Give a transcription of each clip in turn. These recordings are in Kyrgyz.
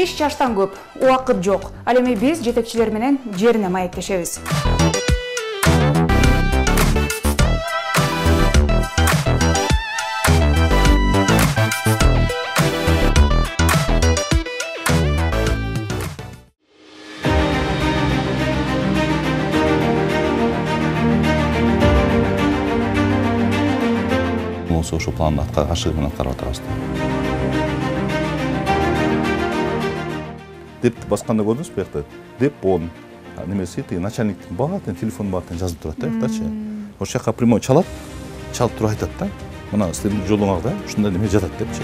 Иш чаштан көп, убакыт жок. Ал эми биз жетекчилер менен жерине маектешебиз. Ошол планды ашыгы менен аткарып атабыз. Депти басканда көрдүңүзбү буякта? Деп он немеси начальниктин баатын телефон баатын жазып турат да, буяктачы. Ошол жака прямой чалат туруп айтат да. Мына силердин жолуңарда ушундай неме жатат депчи.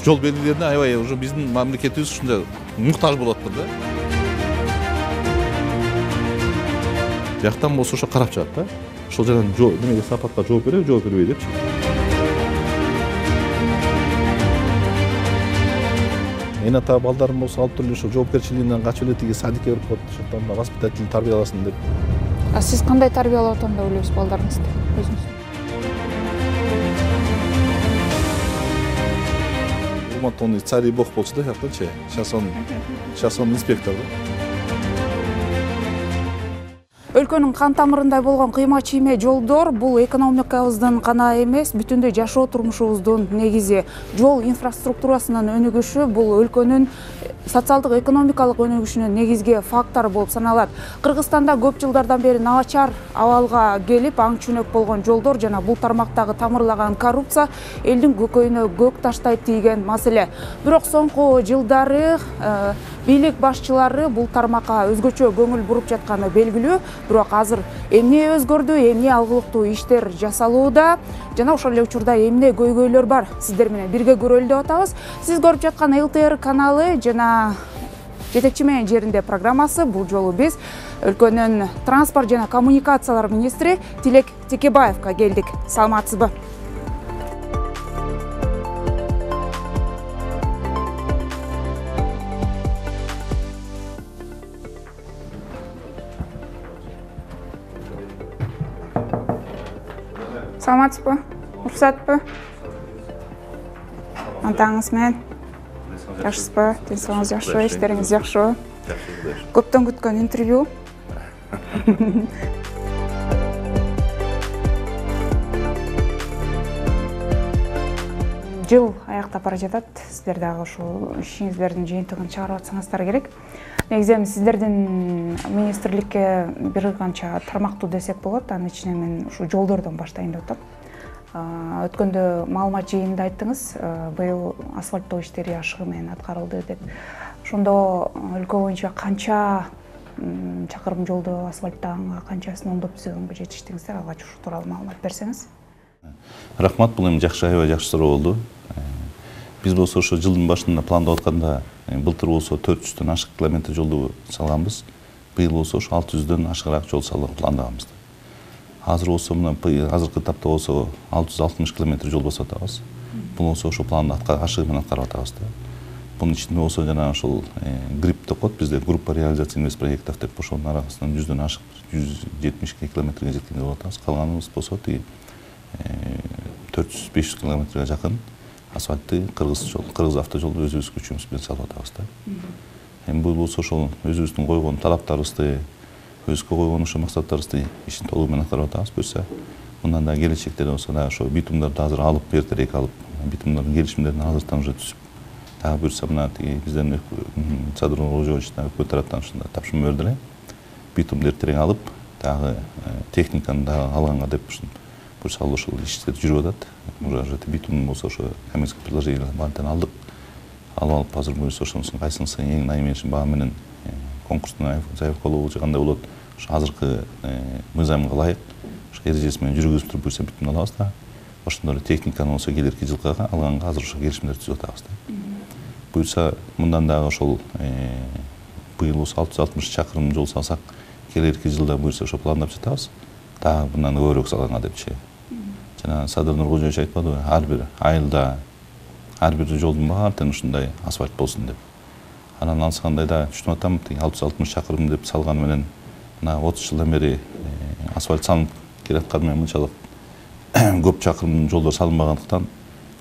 Жол белгилерине аябай уже биздин мамлекетибиз ушундай муктаж болуп атты да. Жактан болсо ошо карап чыгат да. Ошол жаган немеге сапатка жооп бербей депчи. Мен ата балдарым болсо алып туруп ошо жоопкерчилигинен качып эле тиги садикке барып коет, ошондон да воспитатель тарбияласын деп. А сиз кандай тарбиялап атам деп ойлойсуз балдарыңызды өзүңүз? Урмат он царь и бог болчу да жактачы. Сейчас он инспектор да. Өлкөнүн кан тамырындай болгон кыйма-чийме жолдор бул экономикабыздын гана эмес, бүтүндөй жашоо турмушубуздун негизи. Жол инфраструктурасынын өнүгүшү бул өлкөнүн социалдык экономикалык өнүгүшүнүн негизги фактору болуп саналат. Кыргызстанда көп жылдардан бери начар абалга келип, аң чүнөк болгон жолдор жана бул тармактагы тамырлаган коррупция элдин көкөйүнө көк таштай тийген маселе. Бирок соңку жылдары бийлик башчылары бул тармакка өзгөчө көңүл буруп жатканы белгилүү. Бирок азыр эмне өзгөрдү, эмне алгылыктуу иштер жасалууда жана ошол эле учурда эмне көйгөйлөр бар, сиздер менен бирге көрөлү деп атабыз. Сиз көрүп жаткан ЛТР каналы жана жетекчи менен жеринде программасы. Бул жолу биз өлкөнүн транспорт жана коммуникациялар министри Тилек Текебаевга келдик. Саламатсызбы? Саламатсызбы? Уруксатпы? Антаңыз менен? Жакшысызбы? Денсаулыгыңыз жакшыбы? Иштериңиз жакшыбы? Көптөн күткөн интервью. Жыл аяктап бара жатат. Сиздер дагы ушул ишиңиздердин жыйынтыгын чыгарып атсаңыздар керек. Негизи эми сиздердин министрликке бир канча тармактуу десек болот. Анын ичинен мен ушу жолдордон баштайын деп атам. Өткөндө маалымат жыйынында айттыңыз, быйыл асфальттоо иштери ашыгы менен аткарылды деп. Ошондо өлкө боюнча канча чакырым жолду асфальттаганга, канчасын оңдоп түзөгөнгө жетиштиңиздер? Алгач ушул тууралуу маалымат берсеңиз. Рахмат, бул эми аябай жакшы суроо болду. Биз болсо ошо жылдын башында пландап атканда былтыр болсо 400дөн ашык километр жолду салганбыз. Быйыл болсо ошо 600дөн ашыгыраак жол салууга пландаганбыз. Азыр болсо мына азыркы этапта болсо 660 километр жол басып атабыз. Бул болсо ошо планды ашыгы менен аткарып атабыз да. Бунун ичинде болсо жана ошол ГРИП деп коет, бизде группа реализация инвест проектов деп ошонун арасынан 100дөн ашык 172 километрге жеткен деп атабыз. Калганыбыз болсо тиги 400-500 километрге жакын асфальтты кыргыз автожолду өзүбүз күчүбүз менен салып атабыз да. Эми бул болсо ошол өзүбүздүн койгон талаптарыбызды, өзгө койгон ошо максаттарыбызды ишин толугу менен аткарып атабыз. Буюрса, мындан да келечекте болсо да ошо битумдарды азыр алып, эртерээк алып, битумдардын келишимдерин азыртан уже түзүп, дагы буюрса мына тиги бизден Садыр Нуркожоевич өкмөт тараптан ушундай тапшырма берди эле. Битумду эртерээк алып, дагы техниканы дагы алганга деп буюрса ошол иштер жүрүп атат. Уже битум болсо ошо коммерческий предложение баарын алдык. Алып азыр буюрса ошонусун кайсынысы эң найымешин баа менен конкурстун заявкалоо кандай болот, ошо азыркы мыйзамга ылайык ошо эрежеси менен жүргүзүп туруп буюрса битумду алабыз да. Ошондой эле техниканы болсо келерки жылга алганга азыр ошо келишимдерди түзүп атабыз да. Буюрса мындан дагы ошол быйыл болсо 660 чакырым жол салсак, келерки жылда буюрса ошо пландап жатабыз. Дагы мындан көбүрөөк салганга депчи. Жана Садыр Нуркожоевич айтпадыбы, ар бир айылда ар бир жолдун баары ушундай асфальт болсун деп. Анан алсагандай да түшүнүп атам, 660 чакырым деп салганы менен мына 30 жылдан бери асфальт салынып келатканы менен мынчалык көп чакырым жолдор салынбагандыктан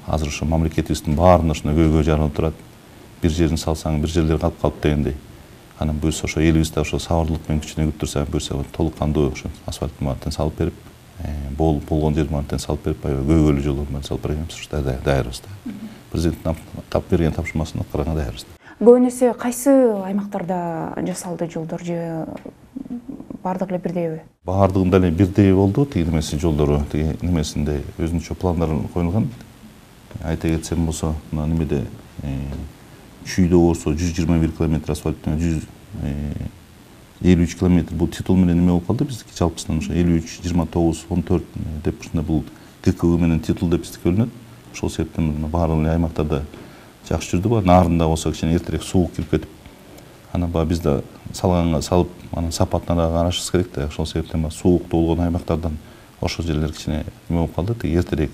азыр ошо мамлекетибиздин баарында ушундай көйгөй жаралып турат. Бир жерин салсаң бир жерлер калып дегендей. Анан буюрса ошо элибизде ошо сабырдылык менен күчүнө күттүрсө, буюрса толук кандуу ошо асфальт мааттан салып берип, болгон жер мааттан салып берип, көйгөйлүү жолдордун салып беребиз. Ушта даярбыз да. Президенттин тап берген тапшырмасына караганда даярбыз. Көбүн эсе кайсы аймактарда жасалды жолдор же бардыгы эле бирдейби? Бардыгында эле бирдей болду. Тиги немеси жолдору, тиги немесинде өзүнчө пландар коюлган. Айта кетсем болсо, мына немеде Чүйдө болсо 121 км асфальттан 153 км бул титул менен неме болуп калды биздики жалпысынан ошо 53, 29, 14 деп ушундай бул ГКУ менен титул деп биздики бөлүнөт. Ошол себептен баардык эле аймактарда жакшы жүрдү. Нарында болсо кичине эртерээк суук кирип кетип, анан бизде салганга салып, анан сапатына да карашыбыз керек да. Ошол себептен сууктуу болгон аймактардан ошол жерлер кичине неме болуп калды. Тиги эртерээк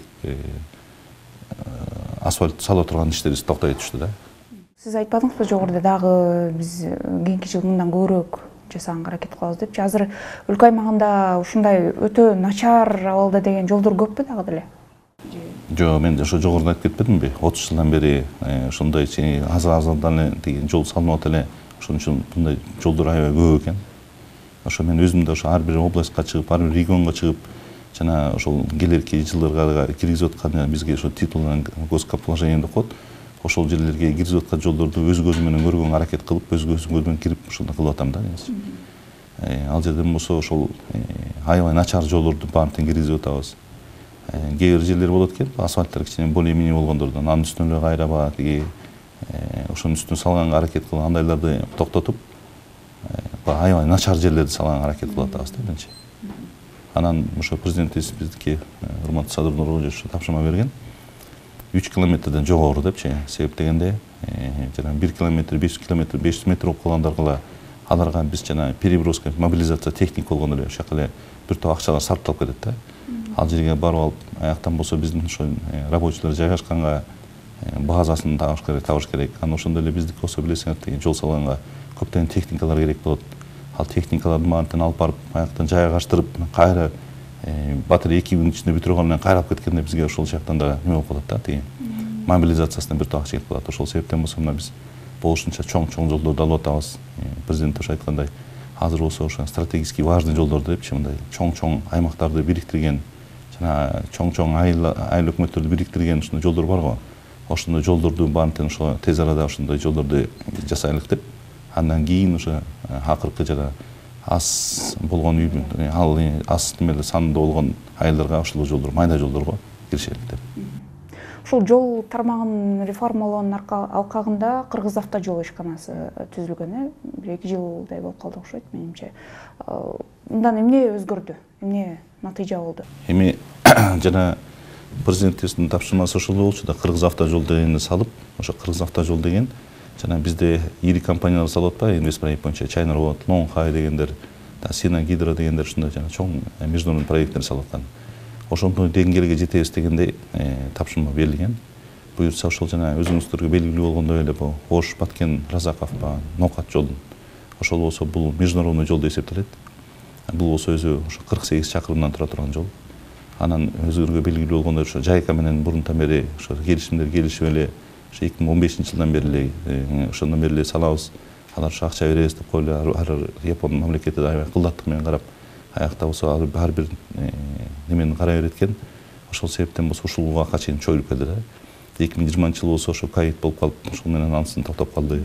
асфальт сала турган иштерибиз токтой түштү да. Сиз айтпадыңызбы жогоруда дагы биз кийинки жыл мындан көбүрөөк жасаганга аракет кылабыз депчи. Азыр өлкө аймагында ушундай өтө начар абалда деген жолдор көппү дагы деле? Жок, мен ошо жогоруда айтып кетпедимби? 30 жылдан бери ушундай аз-аздан эле деген жол салынып атат эле. Ошон үчүн мындай жолдор аябай көп экен. Ошо мен өзүм да ошо ар бир областка чыгып, ар бир регионго чыгып, жана ошол келерки жылдарга киргизип аткан бизге ошо титулдан госкаположение деп коет. Ошол жерлерге киргизип аткан жолдорду өз көзүм менен көргөнгө аракет кылып, өз көзүм менен кирип ушундай кылып атам да. Ал жерден болсо ошол аябай начар жолдорду баарын киргизип атабыз. Кээ бир жерлер болот экен, асфальттар кичине более-менее болгондордон анын үстүнө эле кайраба тиги ошонун үстүнө салганга аракет кылып, андайларды токтотуп, аябай начар жерлерди салганга аракет кылып атабыз да биринчи. Анан ошо президентибиз биздики урматтуу Садыр Нуралиевич тапшырма берген. 3 километрден жогору депчи, себеп дегенде жана 1 километр, 5 километр, 500 метр болуп калгандарга аларга биз жана переброска, мобилизация техник болгондо эле ошол эле бир топ акчалар сарпталып кетет да. Ал жерге барып алып, аяктан болсо биздин ошо рабочийлер жайгашканга базасын табыш керек. Анан ошондой эле биздики болсо билесиңер деген жол салганга көптөгөн техникалар керек болот. Ал техникаларды маантен алып барып, аяктан жайгаштырып, кайра батарея 2 күнүн ичинде бүтүрүп алып кайрап кеткенде бизге ошол жактан да неме болуп калат да, тиги мобилизациясына бир топ акча кетип калат. Ошол себептен болсо мына биз болушунча чоң жолдорду алып атабыз. Президент ошо айткандай, азыр болсо ошо стратегически важный жолдорду депчи, мындай чоң аймактарды бириктирген, жана чоң айыл өкмөттөрдү бириктирген ушундай жолдор бар го. Ошондой жолдорду баарын ошо тез арада ошондой жолдорду жасайлык деп, андан кийин ошо акыркы жана аз болгон ал аз немелер сандуу болгон айылдарга ошол жолдор, майда жолдорго киришелик деп. Ушул жол тармагын реформалоонун алкагында Кыргыз автожол ишканасы түзүлгөн, 1-2 жылдай болуп калды окшойт менимче. Мындан эмне өзгөрдү? Эмне натыйжа болду? Эми жана президентибиздин тапшырмасы ошол болчу да, Кыргыз автожол дегенди салып, ошо Кыргыз автожол деген жана бизде ири компаниялар салып атпайбы, инвестпроект боюнча Чайнер болот, Лонгхай дегендер, Сина Гидро дегендер ушундай жана чоң международный проекттер салып аткан. Ошондой деңгээлге жетебиз дегендей тапшырма берилген. Буюрса ошол жана өзүңүздөргө белгилүү болгондой эле бул Ош, Баткен, Разаков, Нокат жол. Ошол болсо бул международный жол деп эсептелет. Бул болсо өзү ошо 48 чакырымдан тура турган жол. Анан өзүңөргө белгилүү болгондой ошо Жайка менен мурунтан бери ошо келишимдер келишип эле ошо 2015-жылдан бери эле ошондон бери эле салабыз. Алар ошо акча беребиз деп койлу, ар Япон мамлекети да аябай кылдаттык менен карап, аякта болсо ар бир немени карай берет экен. Ошол себептен болсо ушул убакка чейин чоюлуп келди да. 2020-жыл болсо ошо ковид болуп калып, ошол менен ансын токтоп калды.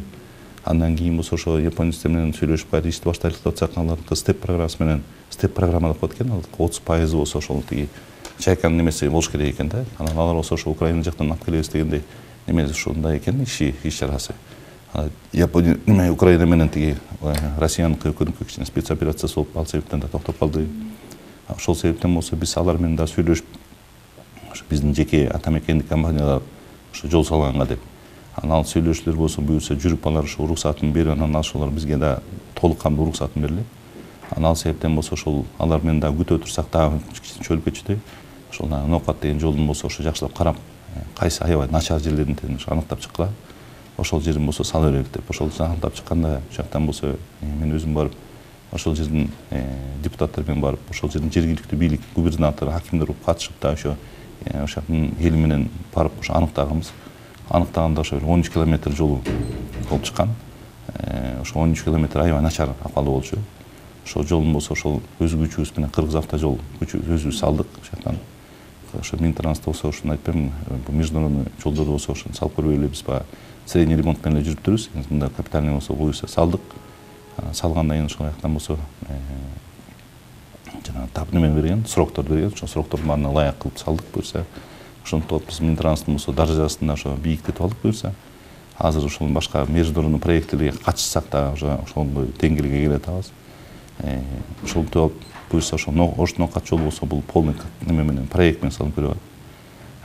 Андан кийин болсо ошо японецтер менен сүйлөшүп кайра ишти баштайлык деп атсак, алардын степ программасы менен, степ программа деп коет экен, ал 30% болсо ошол тиги Чайканын немеси болуш керек экен да. Анан алар болсо ошо Украина жактан алып келебиз дегендей немеси ушундай экен, иш чарасы. Япония неме Украина менен тиги Россияныкы өкүнүккө кичине спецоперациясы болуп, ал себептен да токтоп калды. Ошол себептен болсо биз алар менен да сүйлөшүп, ошо биздин жеке атамекендик компаниялар ошо жол салганга деп. Анан ал сүйлөшүүлөр болсо буюрса жүрүп алар ошо уруксатын берип, анан ошолор бизге да толук кандуу уруксатын берилет. Анан ал себептен болсо ошол алар менен да күтө турсак дагы кичине чөйүлүп кетчү. Ошол Нокат деген жолдун болсо ошо жакшылап карап, кайсы аябай начар жерлерин аныктап чыккыла. Ошол жерин болсо сала берели деп. Ошол аныктап чыкканда жактан болсо мен өзүм барып, ошол жердин депутаттар менен барып, ошол жердин жергиликтүү бийлик, губернатор, акимдер катышып да ошо ошол эл менен барып ошо аныктаганбыз. Аныктаганда ошо 13 километр жолу болуп чыккан. Ошо 13 километр аябай начар акыбалы болчу. Ошол жолдун болсо ошол өз күчүбүз менен Кыргыз автожол өзүбүз салдык. Ошоктан ошо Минтранспорт болсо ошону айтпайм, бул международный жолдорду болсо ошону салып көрбөйлү, биз баягы средний ремонт менен эле жүрүптүрбүз. Мында капитальный болсо буюрса салдык. Салгандан кийин ошол жактан болсо жана немен берген, сроктор берген. Ошол сроктордун баарына ылайык кылып салдык буюрса. Ошондуктан биз Минтранспорттун болсо даражасын да ошо бийиктетип алдык буюрса. Азыр ошол башка международный проекттерге катышсак да уже ошондой деңгээлге келе атабыз. Ошолтип алып буюрса ошо Ош-Ноокат жолу болсо бул полный неме менен проект менен салып көрүп атат.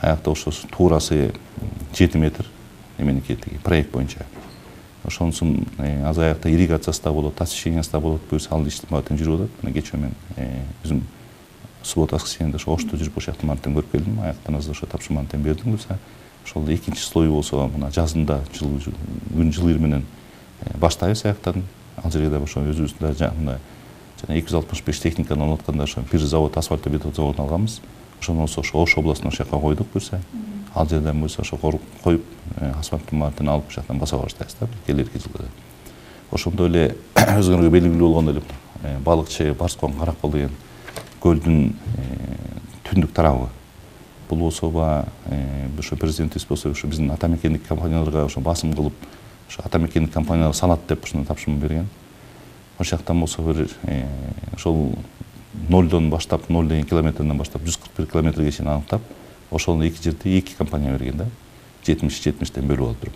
Аякта ошо туурасы 7 метр неменики проект боюнча. Ошонусун азыр аякта ирригациясы да болот, освещениясы да болот буюрса ал иштин баары жүрүп атат. Мына кечээ мен өзүм суббота воскресеньеде ошо Ошто жүрүп ошол жакта мантен көрүп келдим. Аяктан азыр ошо тапшырманы бердим буюрса. Ошол экинчи слою болсо мына жазында күн жылыыр менен баштайбыз аяктан. Ал жерге да ошо өзүбүздүн жана 265 техниканы орноткондо ошо бир завод, асфальтобетон заводун алганбыз. Ошону болсо ошо Ош областына ошол жака койдук буюрса. Ал жерден буюрса ошо коюп асфальттын баарын алып ошол жактан баса баштайбыз да келерки жылда. Ошондой эле өзүңөргө белгилүү болгондой эле балыкчы Барскон Каракол деген көлдүн түндүк тарабы. Бул болсо ошо президентибиз болсо ошо биздин ата мекендик компанияларга ошо басым кылып, ошо ата мекендик компаниялар салат деп ошону тапшырма берген. Ошол жактан болсо бир ошол 0дон баштап, 0 деген километрден баштап 141 километрге чейин аныктап, ошону эки жерде эки компания берген да. 70-70тен бөлүп алып туруп.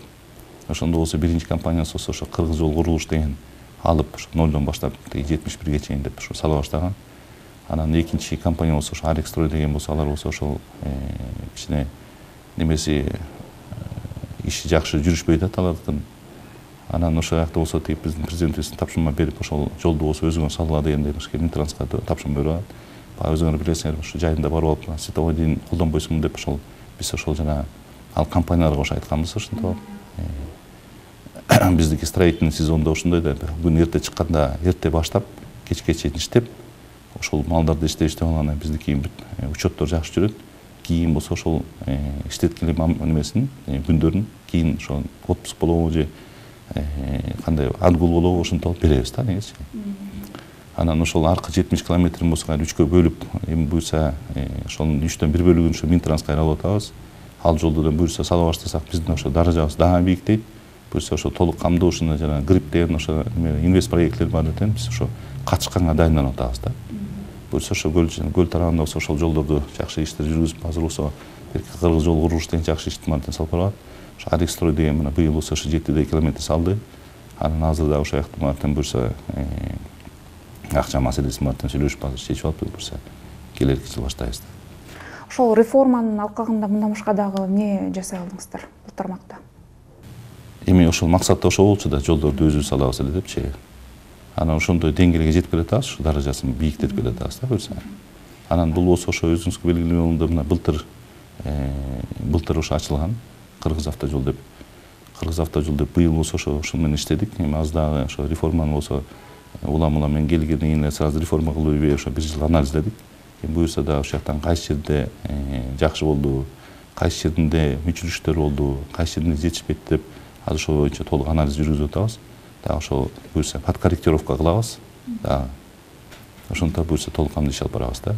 Ошондо болсо биринчи компаниясы болсо ошо Кыргыз жол курулуш деген алып ошо 0дон баштап 71ге чейин деп ошо сала баштаган. Анан экинчи компания болсо ошо Арекстрой деген болсо алар болсо ошол кичине немеси иши жакшы жүрүшпөй атат алардын. Анан ошол жакта болсо тип биздин президентибиздин тапшырма берип ошол жолду болсо өзүңөр салгыла дегенде Минтрансқа тапшырма берип атат. Баягы өзүңөр билесиңер ошо жайында барып алып световой дин колдонбойсуңбу деп ошол биз ошол жана ал компанияларга ошо айтканбыз ошентип алып. Биздики строительный сезондо ошондой да күн эрте чыкканда эрте баштап кечке чейин иштеп ошол малдарды иштеп алганда биздики учеттор жакшы жүрөт. Кийин болсо ошол иштеткиле немесин күндөрүн кийин ошол отпуск болобу же кандай отгул болобу ошентип алып беребиз да негизи. Анан ошол аркы 70 километрин болсо үчкө бөлүп, эми буюрса ошонун 3төн 1 бөлүгүн ошо Минтрансқа алып атабыз. Ал жолду буюрса сала баштасак биздин ошо даражабыз дагы бийиктейт. Буюрса ошо толук камдоо ушуна жана грип деген ошо инвест проекттер бар экен. Биз ошо катышканга дайындалып атабыз да. Буюрса ошо көл тарабында болсо ошол жолдорду жакшы иштер жүргүзүп, азыр болсо Кыргыз жол курулуш деген жакшы иштин баарын салып барат. Ошо Арекстрой деген мына быйыл болсо ошо 7 километр салды. Анан азыр да ошол жактан баарын буюрса акча маселесин баарын сүйлөшүп азыр чечип алып буюрса келерки жыл баштайбыз. Ошол реформанын алкагында мындан башка дагы эмне жасай алдыңыздар бул тармакта? Эми ошол максатта ошо болчу да жолдорду өзүбүз салабыз эле депчи. Анан ошондой деңгээлге жетип келатабыз, ушу даражасын бийиктетип келатабыз да буюрса. Анан бул болсо ошо өзүңүзгө белгилүү болгондой мына былтыр ошо ачылган Кыргыз автожол деп. Кыргыз автожол деп быйыл болсо ошо менен иштедик. Эми аз дагы ошо реформаны болсо улам менен келгенден кийин сразу реформа кылып ошо бир жыл анализдедик. Буюрса да ошол жактан кайсы жерде жакшы болду, кайсы жеринде мүчүрүштөр болду, кайсы жеринде жетишпейт деп азыр ошол боюнча толук анализ жүргүзүп атабыз. Дагы ошол буюрса подкорректировка кылабыз. Дагы ошонтип буюрса толук кандуу иш алып барабыз да.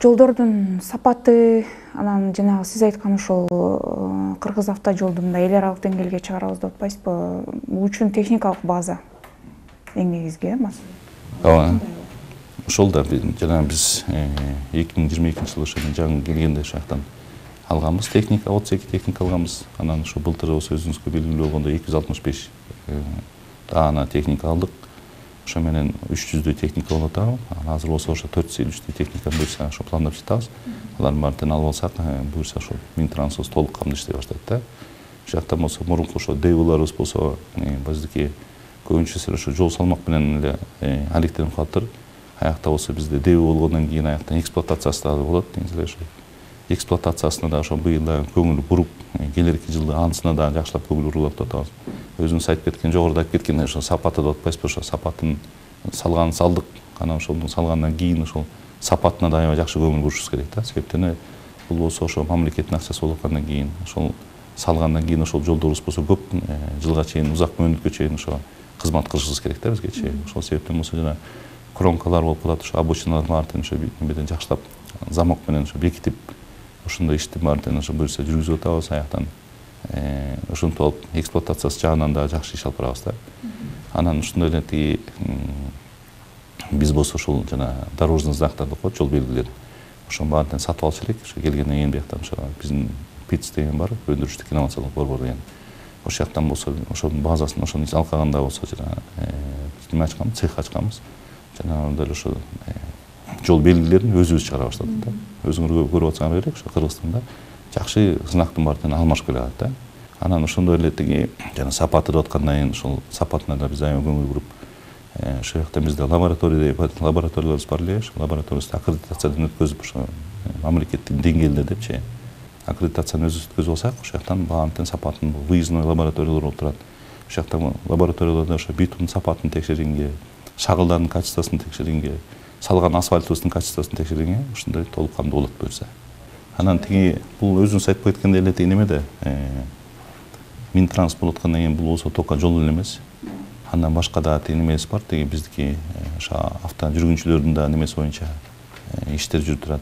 Жолдордун сапаты, анан жанагы сиз айткан ошол Кыргыз автожолдун да эл аралык деңгээлге чыгарабыз деп атпайсызбы? Бул үчүн техникалык база эң негизги Ооба. Ошол да жана биз 2022 жылы ошо жаңы келгенде ошол жактан алганбыз техника, 32 техника алганбыз. Анан ошо былтыр болсо өзүңүзгө белгилүү болгондой 265 даана техника алдык. Ошо менен 300дөй техника болуп атабы. Азыр болсо ошо 453 техника буюрса ошо пландап жатабыз. Алардын баарын алып алсак, буюрса ошо Минтранспорт толук камдуу иштей баштайт да. Ошол жактан болсо мурунку ошо дэвларыбыз болсо биздики көбүнчөсү ошо жол салмак менен эле алектенип калыптыр. Аякта болсо бизде дэв болгондон кийин аяктан эксплуатациясы да болот. Негизи ошо эксплуатациясына да ошо быйыл да көңүл буруп, келерки жылы анысына да жакшылап көңүл буруп атабыз. Өзүңүз айтып кеткен, жогоруда айтып кеткендей ошо сапаты деп атпайсызбы, ошо сапатын салдык. Анан ошону салгандан кийин ошол сапатына да аябай жакшы көңүл бурушубуз керек да. Себептен бул болсо ошо мамлекеттин акчасы болуп аткандан кийин ошол салгандан кийин ошол жолдорубуз болсо көп жылга чейин узак мөөнөткө чейин ошо кызмат кылышыбыз керек да бизгечи. Ошол себептен болсо жана кромкалар болуп калат, ошо обочиналардын баарын ошо эмеден жакшылап замок менен ошо бекитип ошондой ишти баарын ошо буюрса жүргүзүп атабыз. Аяктан ошентип алып эксплуатациясы жагынан да жакшы иш алып барабыз да. Анан ошондой эле тиги биз болсо ошол жана дорожный знактарды коет, жол белгилерин. Ошонун баарын сатып алчу элек. Ошо келгенден кийин бияктан ошо биздин ПИЦ деген бар, өндүрүштүк инновациялык борбор деген. Ошол жактан болсо ошонун базасын ошону алкаганда болсо жана неме ачканбыз, цех ачканбыз. Жана дал ошо жол белгилерин өзүбүз чыгара баштадык да. Өзүңөр көрүп атсаңар керек, ошо Кыргызстанда жакшы знактын баарын алмашып келатат да. Анан ошондой эле тиги жана сапаты деп аткандан кийин ошол сапатына да биз аябай көңүл буруп, ошол жакта бизде лабораторияларыбыз бар эле, ошол лабораториябызды аккредитациядан өткөзүп, ошо мамлекеттик деңгээлде депчи аккредитацияны өзүбүз өткөзүп алсак, ошол жактан баарын сапатын выездной лабораториялар болуп турат. Ошол жакта лабораторияларда ошо битум сапатын текшергенге, шагылдардын качествосун текшергенге, салган асфальтыбыздын качествосун текшергенге ушундай толук кандуу болот буюрса. Анан тиги бул өзүңүз айтып кеткендей эле тиги немеде Минтранс болуп аткандан кийин бул болсо только жол эле эмес. Андан башка да тиги немебиз бар, тиги биздики ошо авто жүргүнчүлөрдүн да немеси боюнча иштер жүрүп турат.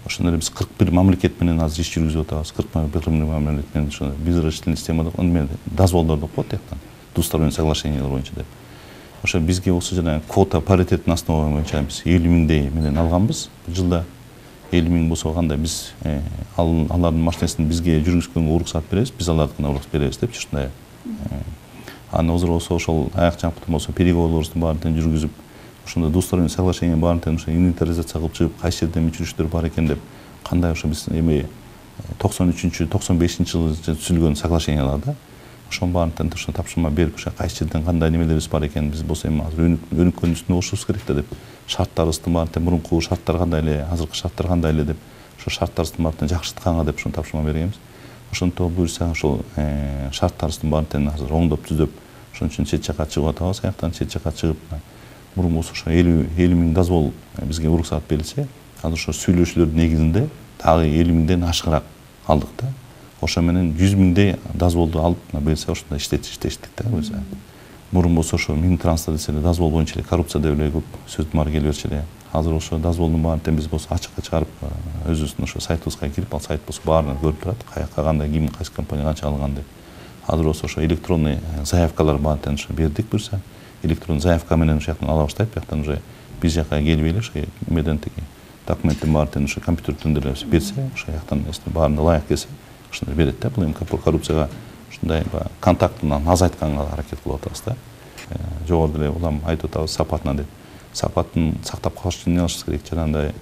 Ошондой эле биз 41 мамлекет менен азыр иш жүргүзүп атабыз. 41 мамлекет менен ошо безрасчетный система деп, аны дозволдор деп коет тияктан. Двусторонний соглашениялар боюнча деп. Ошо бизге болсо жана квота паритеттин основа боюнча биз 50 миңдей менен алганбыз. Жылда 50 миң болсо кандай биз алардын машинесин бизге жүргүзгөнгө уруксат беребиз, биз алардыкына уруксат беребиз депчи ушундай. Аны азыр болсо ошол аяк жактан болсо переговорубуздун баарын жүргүзүп, ошондой двусторонний соглашение баарын ошо инвентаризация кылып чыгып, кайсы жерде өчүрүштөр бар экен деп, кандай ошо биз эми 93-95 жылы түзүлгөн соглашениялар да. Ошонун баарын ошо тапшырма берип, ошо кайсы жерден кандай немелерибиз бар экен, биз болсо эми азыр өнүккөн үстүнө болушубуз керек да деп, шарттарыбыздын баарын мурунку шарттар кандай эле, азыркы шарттар кандай эле деп, ошо шарттарыбыздын баарын жакшыртканга деп ошону тапшырма бергенбиз. Ошентип буюрса ошол шарттарыбыздын баарын азыр оңдоп түзөп, ошон үчүн чет жакка чыгып атабыз. Аяктан чет жакка чыгып, мурун болсо ошо 50 миң дозвол бизге уруксат берилсе, азыр ошо сүйлөшүүлөрдүн негизинде дагы 50 миңден ашыгыраак алдык да. Ошо менен 100 миңдей дозволду алып берсе, ошондо иштештик да буюрса. Мурун болсо ошо Минтранста десе эле дозвол боюнча эле коррупция деп эле көп сөздүн келе берчү эле. Азыр ошо дозволдун баарын биз болсо ачыкка чыгарып, өзүбүздүн ошо сайтыбызга кирип, ал сайт болсо баарын көрүп турат, каяка кандай, ким, кайсы компания канча алган деп. Азыр болсо ошо электронный заявкалар баарын ошо бердик буюрса. Электронный заявка менен ошол жактан ала баштайт, бияктан уже биз жакка келбей эле ошо эмеден тиги документтин баарын ошо компьютерден деле берсе, ошол жактан баарына ылайык келсе, ошондой берет да. Бул эми коррупцияга ушундай контактын азайтканга аракет кылып атабыз да. Жогоруда эле улам айтып атабыз сапатына деп. Сапатын сактап калыш үчүн эмне кылышыбыз керек? Жанагындай